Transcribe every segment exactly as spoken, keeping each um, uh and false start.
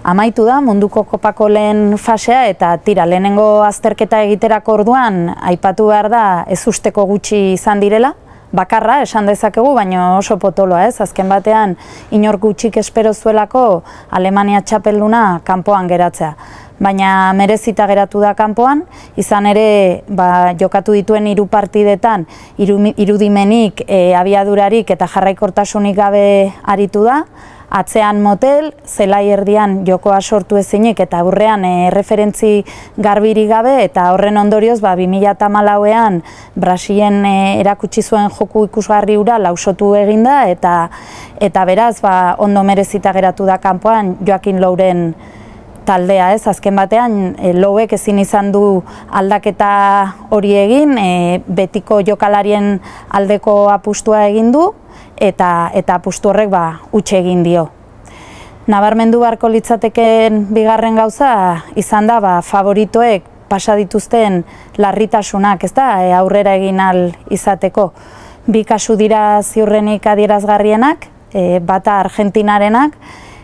amaitu da munduko kopako lehen fasea eta tira, lehenengo azterketa egiterako orduan aipatu behar da ez usteko gutxi izan direla, bakarra esan dezakegu, baina oso potoloa ez, azken batean inor gutxik espero zuelako Alemania txapelduna kanpoan geratzea. Baina merezita geratu da kanpoan, izan ere ba, jokatu dituen hiru partidetan irudimenik, e, abiadurarik eta jarraikortasunik gabe aritu da, atzean motel, zelai erdian jokoa sortu ezinik eta aurrean e, referentzi garbirik gabe eta horren ondorioz ba, bi mila hamalauean Brasilen e, erakutsi zuen joku ikusgarri hura lausotu eginda eta, eta beraz ba, ondo merezita geratu da kanpoan Joaquin Louren taldea, ez, azken batean e, Louek ezin izan du aldaketa hori egin, e, betiko jokalarien aldeko apustua egin du, eta, eta apustu horrek ba, utxe egin dio. Nabarmendu beharko litzateken bigarren gauza izan da ba, favoritoek pasa dituzten larritasunak, ez da, e, aurrera egin ahal izateko. Bi kasu dira ziurrenik adierazgarrienak, e, bata Argentinarenak,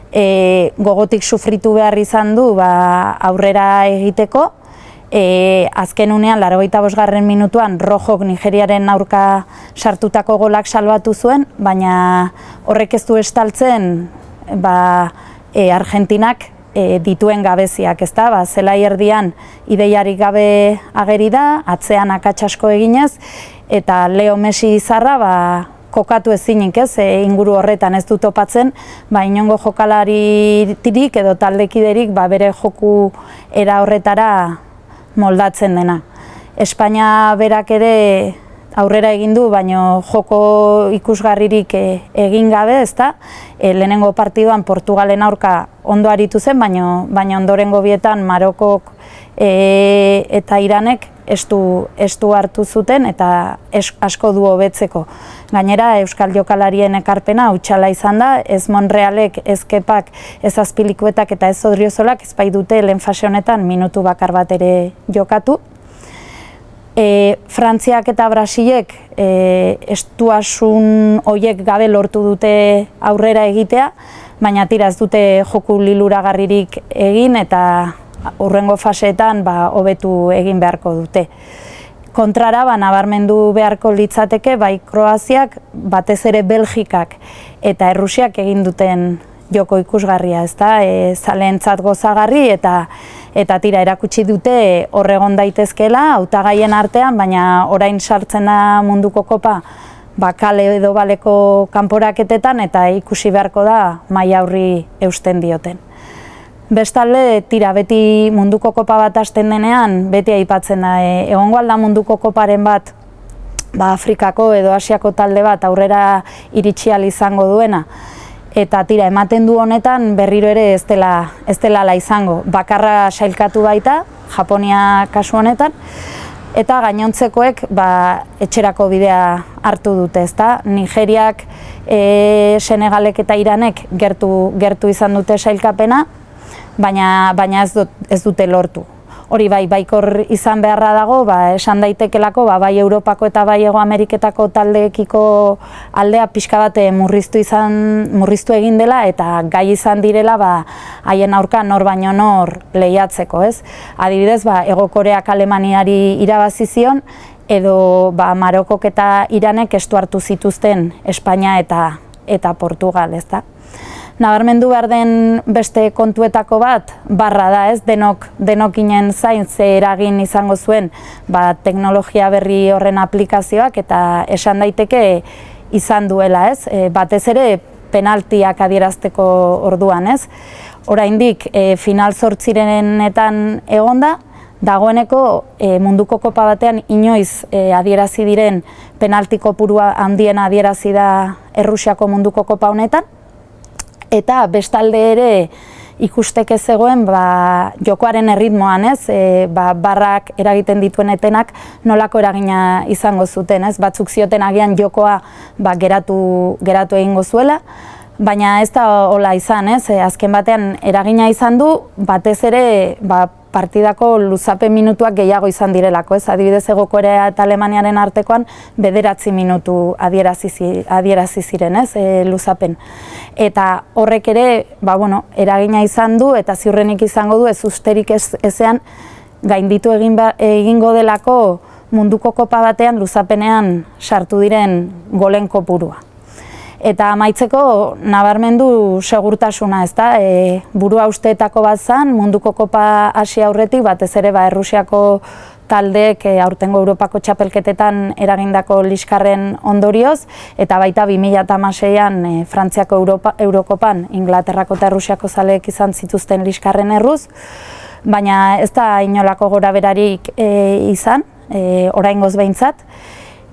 E, gogotik sufritu behar izan du ba, aurrera egiteko, e, azken unean, laurogeita bosgarren minutuan, Rojok Nigeriaren aurka sartutako golak salbatu zuen, baina horrek ez du estaltzen ba, e, Argentinak e, dituen gabeziak, ez da, ba, zelai erdian ideiarik gabe ageri da, atzean akatsasko eginez, eta Leo Messi izarra, ba, kokatu ezinik, ez, e, inguru horretan ez du topatzen, ba, inongo jokalaritik edo taldekiderik ba, bere joku era horretara moldatzen dena. Espainia berak ere aurrera egin du, baina joko ikusgarririk e, egin gabe, ezta? E, lehenengo partiduan Portugalen aurka ondo aritu zen, baina, baina ondorengo bietan Marokok e, eta Iranek ez du hartu zuten eta es, asko du hobetzeko. Gainera, Euskal jokalarien ekarpena hutsala izan da, ez Monrealek, ez Kepak, ez Azpilikuetak eta ez Odriozolak ez bai dute lehen fase honetan minutu bakar bat ere jokatu. E, Frantziak eta Brasilek e, estuasun horiek gabe lortu dute aurrera egitea, baina tira ez dute joku liluragarririk egin eta hurrengo faseetan ba, hobetu egin beharko dute. Kontrara, ba, nabarmendu beharko litzateke, bai Kroaziak, batez ere Belgikak eta Errusiak egin duten joko ikusgarria, ezta? E, zaleentzat gozagarri eta eta tira erakutsi dute horregon daitezkeela hautagaien artean, baina orain sartzen da munduko kopa ba, kale edo baleko kanporaketetan eta ikusi beharko da maila horri eusten dioten. Bestalde, tira, beti munduko kopa bat hasten denean, beti aipatzen da, e, egongo alda munduko koparen bat, ba, Afrikako edo Asiako talde bat aurrera iritsi ahal izango duena. Eta tira, ematen du honetan berriro ere ez dela, ez dela ala izango. Bakarra sailkatu baita, Japonia kasu honetan, eta gainontzekoek ba, etxerako bidea hartu dute, ezta? Nigeriak, e, Senegalek eta Iranek gertu, gertu izan dute sailkapena, baina, baina ez, dut, ez dute lortu. Hori bai, baikor izan beharra dago, ba, esan daitekelako, ba, bai Europako eta bai Hego Ameriketako taldeekiko aldea pixka bat murriztu, izan, murriztu egin dela eta gai izan direla ba, haien aurka nor baino nor lehiatzeko, ez? Adibidez, ba, Hego Koreak Alemaniari irabazi zion, edo ba, Marokok eta Iranek estu hartu zituzten Espainia eta, eta Portugal, ez da? Nabarmendu behar den beste kontuetako bat, barra da, ez, denok, denokinen zain ze eragin izango zuen ba, teknologia berri horren aplikazioak eta esan daiteke izan duela, ez, e, batez ere penaltiak adierazteko orduan, ez. Oraindik e, final zortzirenetan egonda, dagoeneko e, munduko kopa batean inoiz e, adierazi diren penalti kopurua handiena adierazi da Errusiako munduko kopa honetan, eta bestalde ere ikusteke zegoen ba, jokoaren erritmoan, ez, e, ba, barrak eragiten dituen etenak nolako eragina izango zuten, ez, batzuk zioten agian jokoa ba, geratu, geratu egingo zuela, baina ez da hola izan, ez, e, azken batean eragina izan du, batez ere ba, partidako luzapen minutuak gehiago izan direlako, ez? Adibidez, Hego Korea eta Alemaniaren artekoan bederatzi minutu adierazi, adierazi ziren, ez? E, luzapen. Eta horrek ere, ba, bueno, eragina izan du eta ziurrenik izango du ez usterik ez, ezean gainditu egin ba, egingo delako munduko kopa batean luzapenean sartu diren golen kopurua. Eta amaitzeko nabarmendu segurtasuna, ezta? E, burua usteetako bat zan, munduko kopa hasi aurretik, batez ere ba, Errusiako taldeek e, aurtengo Europako txapelketetan eragindako liskarren ondorioz, eta baita bi mila hamaseian e, Frantziako Europa, Eurokopan Inglaterrako eta Errusiako zaleek izan zituzten liskarren erruz, baina ez da inolako gora berarik e, izan, e, oraingoz behintzat.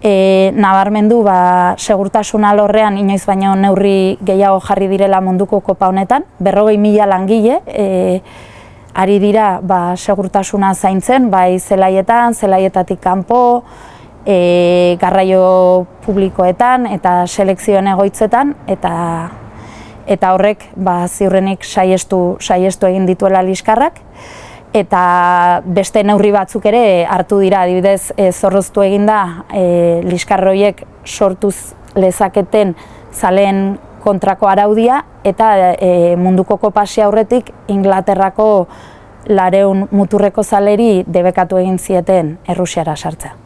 E, nabarmendu ba, segurtasun alorrean inoiz baino neurri gehiago jarri direla munduko kopa honetan, berrogei mila langile e, ari dira ba, segurtasuna zaintzen, bai zelaietan, zelaietatik kanpo, e, garraio publikoetan eta selekzioen egoitzetan, eta, eta horrek ba, ziurrenik saiestu, saiestu egin dituela liskarrak. Eta beste neurri batzuk ere hartu dira, adibidez e, zorroztu eginda e, liskarroiek sortuz lezaketen zaleen kontrako araudia, eta e, munduko kopasi aurretik Inglaterrako lareun muturreko zaleri debekatu egin zieten Errusiara sartzea.